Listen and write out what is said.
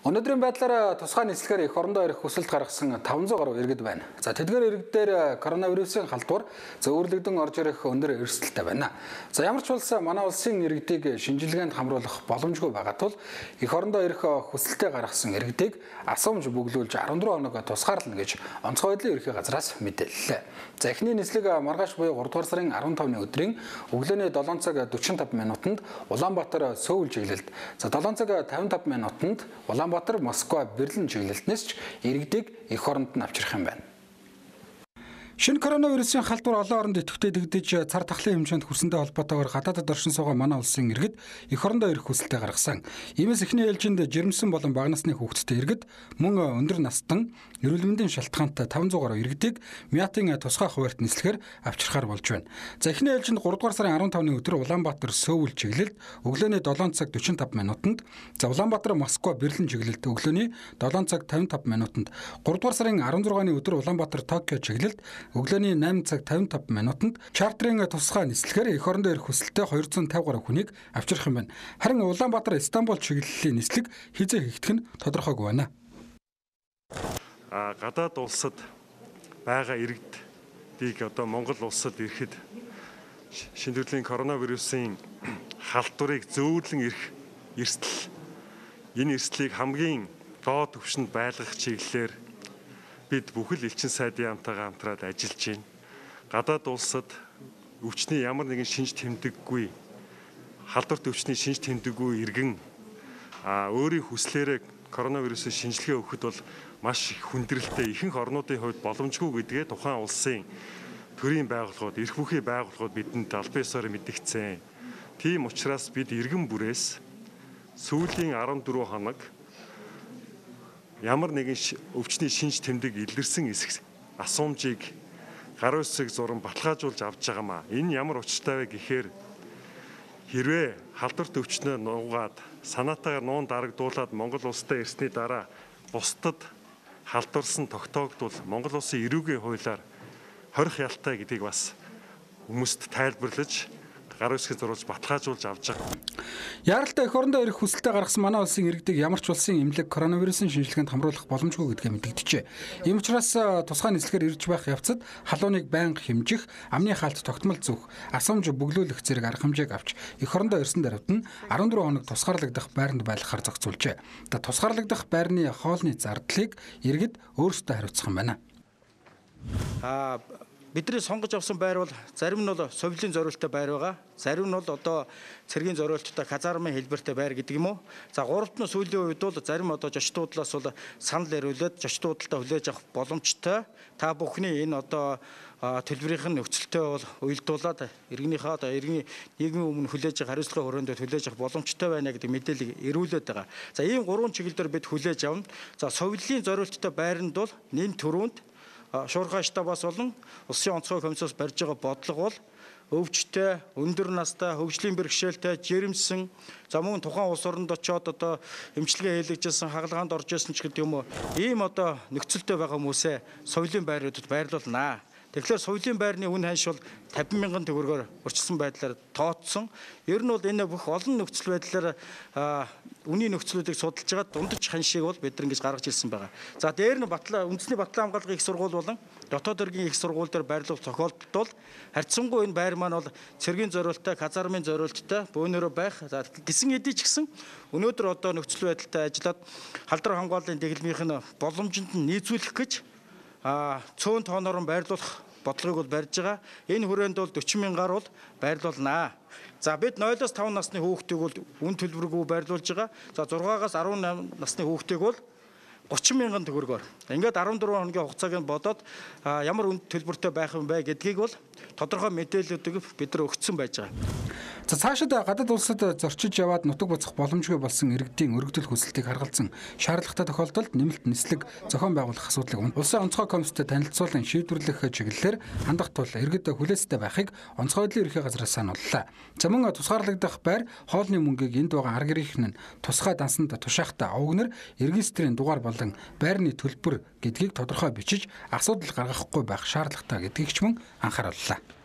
Өнөөдрийн байдлаар тусгай нийслэгээр эх орондоо ирэх хүсэлт гаргасан 500 гаруй иргэд байна. За тэдгээр иргэдээр коронавирусын халдвар зөөвөрлөгдөн орж ирэх өндөр эрсдэлтэй байна. За ямар ч улс манай улсын иргэдийг шинжилгээнд хамруулах боломжгүй байгаа тул эх орондоо ирэх хүсэлтээ гаргасан иргэдийг асуумж бөглүүлж 14 хоног тусгаарлана гэж онцгой байдлын ерөнхий газраас мэдээллээ. За эхний нийслэг маргааш буюу 3 дугаар сарын 15-ны өдрийн өглөөний 7 цаг 45 минутанд Улаанбаатар Сөүл чиглэлд, за 7 цаг 55 минутанд Улаанбаатар Москва Берлин чиглэлтнээс ч иргэдийг эх оронд нь авчрах юм байна. Шинэ коронавирусын халдвар олон оронд идэвхтэй дэгдэж цар тахлын хэмжээнд хүрсэнтэй холбоотойгоор гадаадд оршин суугаа манай улсын иргэд эх орондоо ирэх хүсэлтээ гаргасан. Иймээс эхний ээлжинд жирэмсэн болон бага насны хүүхэдтэй иргэд мөн өндөр настан эрүүл мэндийн шалтгаантай 500 гаруй иргэдийг Мятын тусгай хуваарьт нислэгээр авчрахаар болж байна. За эхний ээлжинд 3 дугаар сарын 15-ны өдөр Улаанбаатар Сөүл чиглэлд өглөөний 7 цаг 45 минутанд, за Улаанбаатар Москва Берлин чиглэлд өглөөний 7 цаг 55 минутанд, 3 дугаар сарын 16-ны өдөр Улаанбаатар Токио чиглэлд өглөөний 8 цаг 55 минутанд чартерын тусгай нислэгээр эх орондоо ирэх хүсэлтэй 250 гаруй хүнийг авчрах юм байна. Харин Улаанбаатар Стамбул чиглэлийн нислэг хизээ хийгдэх нь тодорхойгүй байна. Гадаад улсад байгаа иргэдийг одоо Монгол улсад ирэхэд шинэ төрлийн коронавирусын халдварыг зөөвөрлөн ирэх эрсдэл, энэ эрсдлийг хамгийн доод түвшинд байлгах чиглэлээр бид бүхэл элчин сайдын яамтайгаа хамтраад ажиллаж байна. Гадаад улсад өвчний ямар нэгэн шинж тэмдэггүй, халдварт өвчний шинж тэмдэггүй иргэн өөрийн хүслээрээ коронавирусын шинжилгээ өгөхөд бол маш их хүндрэлтэй, ихэнх орнуудын хувьд боломжгүй гэдгээ тухайн улсын төрийн байгууллагууд, эрх бүхий байгууллагууд бидэнд албан ёсоор мэдгдсэн. Тийм учраас бид иргэн бүрээс сүүлийн 14 хоног ямар нэгэн өвчний шинж тэмдэг илэрсэн асуумжийг гар үсэг зуран баталгаажуулж авч байгаамаа. Энэ ямар учиртай вэ гэхээр хэрвээ халдварт өвчнөө нуугаад санаатаагаар нуун дарагдуулаад Монгол улстай ирсний дараа бусдад халдварсан тогтоогдвол Монгол улсын эрүүгийн хуулиар хорих ялтай гэдгийг бас хүмүүст тайлбарлаж гар үсгийг зурулж баталгаажуулж авч байгаа. Яаралтай эх орондоо ирэх хүсэлтээ гаргасан манай улсын иргэдийг ямар ч улсын эмнэлэг коронавирусын шинжилгээнд хамруулах боломжгүй гэдгээ мэдэгдэжээ. Ийм учраас тусгай нийслэгээр ирж байх явцад халууныг байнга хэмжих, амны хаалт тогтмол зүүх, асуумж бөглүүлэх зэрэг арга хэмжээг авч эх орондоо ирсэн даруйд нь 14 хоног тусгаарлагдах байранд байлгахаар зохицуулжээ. Тусгаарлагдах байрны хоолны зардлыг иргэд өөрсдөө хариуцах юм байна. Бидний сонгож авсан байр бол зарим нь бол совлын зориулттай байр байгаа. Зарим нь бол одоо цэргийн зориулттай казармын хэлбэртэй байр гэдэг юм уу. За гуравт нь сүүлийн үед бол зарим одоо зочдуудлаас бол санал ирүүлээд зочдуудалтаа хүлээж авах боломжтой. Та бүхний энэ одоо төлбөрийн нөхцөлтэй бол уялдуулаад иргэнийхээ одоо иргэний нийгмийн өмнө хүлээж авах хариуцлагын хүрээнд хүлээж авах боломжтой байна гэдэг мэдээлэл ирүүлээд байгаа. За ийм гурван чиглэлээр бид хүлээж авна. За совлын зориулттай байранд бол нэн төрөнд шуурхай штабаас болон улсын онцгой комиссоос барьж байгаа бодлого бол өвчтэй, өндөр настай, хөгжлийн бэрхшээлтэй, жирэмсэн, за мөн тухайн улс оронд очиод одоо эмчилгээ хийлгэжсэн, хагалгаанд орж ирсэн ч гэдэг юм уу, ийм одоо нөхцөлтэй байгаа хүмүүсээ совлын байруудад байрлуулнаа. Тэгэхээр совлын байрны үн ханш бол 50 мянган төгрөгөөр урьдчилсан байдлаар тооцсон. Ер нь бол энэ бүх олон нөхцөл байдлаар үнийн нөхцлүүдийг судалж байгаа дундаж ханшийг бол бид ингэж гаргаж ирсэн байгаа. За дээр нь үндэсний батлан хамгаалгын их сургууль болон дотоод иргэн их сургууль дээр байрлуулах тохиолдолд бол харьцангуй энэ байр маань бол цэргийн зориулттай, казармын зориулттай бөөнөрөө байх. За гисэн эдий ч гэсэн өнөөдөр одоо нөхцөл байдалтай ажиллаад халдвар хамгааллын дэглэмийнх нь боломжинд нь нийцүүлэх гэж цөөн тооноор байрлуулах бодлогыг бол барьж байгаа. Энэ хүрээнд бол 40 мянгаар бол байрлуулнаа. За бид 0-5 насны хүүхдийг бол үн төлбөргүй байрлуулж байгаа. За 6-аас 18 насны хүүхдийг бол 30 мянган төгрөгөөр. Ингээд 14 хоногийн хугацааг нь бодоод ямар үн төлбөртэй байх юм бэ гэдгийг бол тодорхой мэдээллүүдийг бид нар өгсөн байж байгаа. За цаашид гадаад улсад зорчиж яваад нутаг буцах боломжгүй болсон иргэдийн өргөдөл хүсэлтийг харгалзан шаардлагатай тохиолдолд нэмэлт нислэг зохион байгуулах асуудлыг улсын онцгой комисстэй танилцуулан шийдвэрлэх чиглэлээр хандах тул иргэд хүлээцтэй байхыг онцгой байдлын ерөнхий газраас санууллаа. За мөн тусгаарлагдах байр хоолны мөнгийг энд байгаа арга иргэн нь тусгай дансанд тушаахтай овгнэр регистрийн дугаар болон байрны төлбөр гэдгийг тодорхой бичиж асуудал гаргахгүй байх шаардлагатай гэдгийг ч мөн анхаарууллаа.